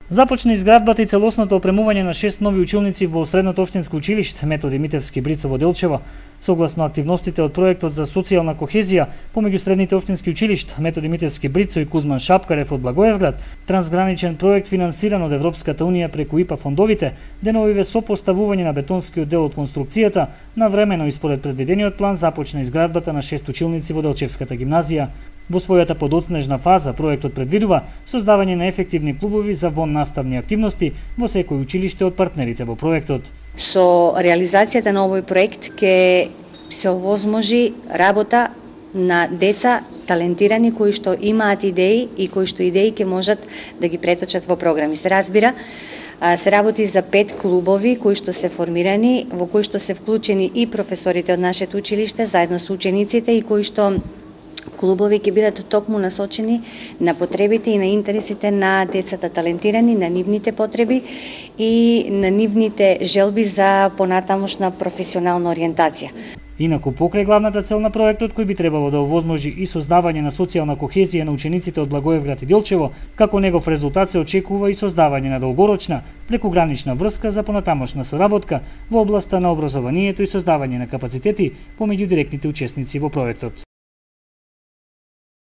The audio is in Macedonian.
Започна изградбата и целосното опремување на 6 нови училници во Средното општинско училиште Методи Митевски Брицо во Делчево. Согласно активностите од проектот за социјална кохезија помеѓу средните општински училишта Методи Митевски Брицо и Кузман Шапкарев од Благоевград, трансграничен проект финансиран од Европската унија преку ИПА фондовите, деновиве со поставување на бетонскиот дел од конструкцијата, навремено и според предвидениот план започна изградбата на 6 училници во Делчевската гимназија. Во својата подоцнежна фаза, проектот предвидува создавање на ефективни клубови за воннаставни активности во секој училиште од партнерите во проектот. Со реализацијата на овој проект ќе се овозможи работа на деца талентирани кои што имаат идеи и кои што идеи ќе можат да ги преточат во програми. Се разбира, се работи за 5 клубови кои што се формирани, во кои што се вклучени и професорите од нашето училиште заедно со учениците и кои што клубови ќе бидат токму насочени на потребите и на интересите на децата талентирани, на нивните потреби и на нивните желби за понатамошна професионална ориентација. Инаку покрај главната цел на проектот, кој би требало да овозможи и создавање на социјална кохезија на учениците од Благоевград и Делчево, како негов резултат се очекува и создавање на долгорочна прекугранична врска за понатамошна соработка во областа на образованието и создавање на капацитети помеѓу директните учесници во проектот.